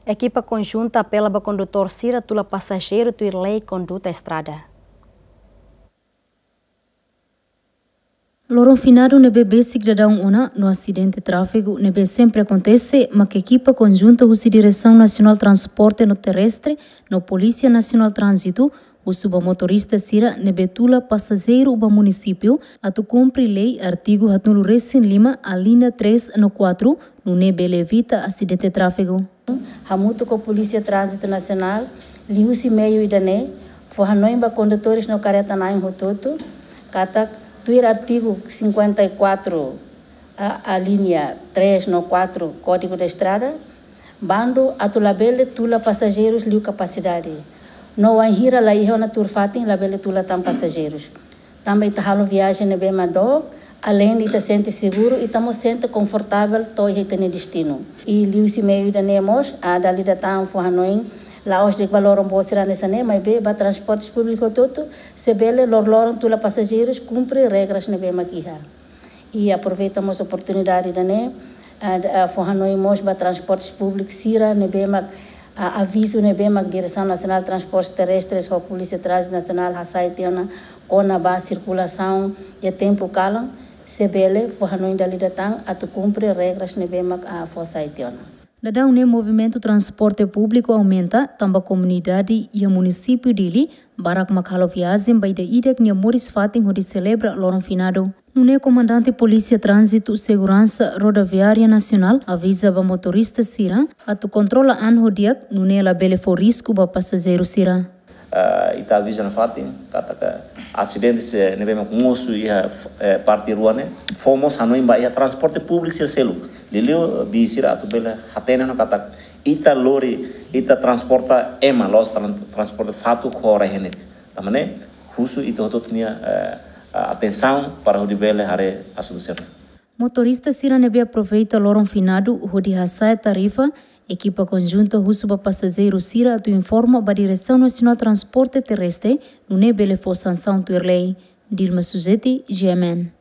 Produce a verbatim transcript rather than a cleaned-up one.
Ekipa konjunta apela ba kondutór sira tula pasajeiru tuir lei konduta estrada. Loron finadu ne'ebé besik daudaun ona, no asidente tráfegu ne'ebé sempre akontese, mak ekipa konjunta husi Diresaun Nasionál Transporte no Terrestre no Polísia Nasionál Tránzitu husu ba motorista sira ne'ebé tula pasajeiru ba munisípiu atu kumpre lei artigu haatnulu resin lima, alínea três no quatro, nune'e bele evita asidente tráfegu. Hamutuk ho Polísia Tránzitu Nasionál, liuhusi meiu ida-ne'e, fó hanoin ba kondutór no karreta na'in hotu-hotu, katak tuir artigu cinquenta e quatro, a, alínea três no quatro Kódigu de Estrada, bandu atu labele tula pasajeiru liu kapasidade. No wainhira la iha ona tuur fatin, labele tula tan pasajeiru. Tanba ita halo viajen ne'ebé mak dook, aleinde ita sente seguru, ita mós sente konfortavel to'o iha ita-nia destinu. I liuhusi meiu ida-ne'e mós, a, dala ida tan fó hanoin, la'ós de'it ba loron boot sira hanesan ne'e, maibé ba transporte públiku hotu-hotu, se bele loroloron tula pasajeiru, kumpre regras ne'ebé mak iha. I aproveita mós oportunidade ida-ne'e, a, a, fó hanoin mós ba transporte públiku sira ne'ebé mak, a, avizu ne'ebé mak Diresaun Nasionál Transportes Terrestres ho Polísia Tránzitu Nasionál hasai tiha ona kona-ba sirkulasaun iha tempu kalan, se bele fó hanoin dala ida tan atu kumpre regras ne'ebé mak, a, fó hasai tiha ona. Daudaun ne'e movimentu transporte públiku aumenta, tanba komunidade iha munisípiu Dili barak mak halo viajen ba ida-idak nia moris-fatin hodi selebra loron finadu. Nune'e Komandante Polísia Tránzitu Seguransa Rodoviária Nasionál aviza ba motorista sira atu kontrola an ho di'ak, nune'e labele fó risku ba pasajeiru sira. Ah, ita aviza nafatin katak asidente sira ne'ebé mak mosu iha, eh, parte rua ne'e, fó mós hanoin ba iha transporte públiku sira seluk. Liuliu bis sira atu bele hatene ona katak ita lori, ita transporta ema, la'ós tran-, transporta fatuk ho rai-henek. Tanba ne'e, husu ita hotu-hotu nia, eh, atensaun para hodi bele haree asuntu sira-ne'e. Motorista sira ne'ebé aproveita loron finadu hodi hasa'e tarifa, ekipa konjunta husu ba pasajeiru sira atu informa ba Diresaun Nasionál Transporte Terrestre, nune'e bele fó sansaun tuir lei. Dilma Suzeti, G M N.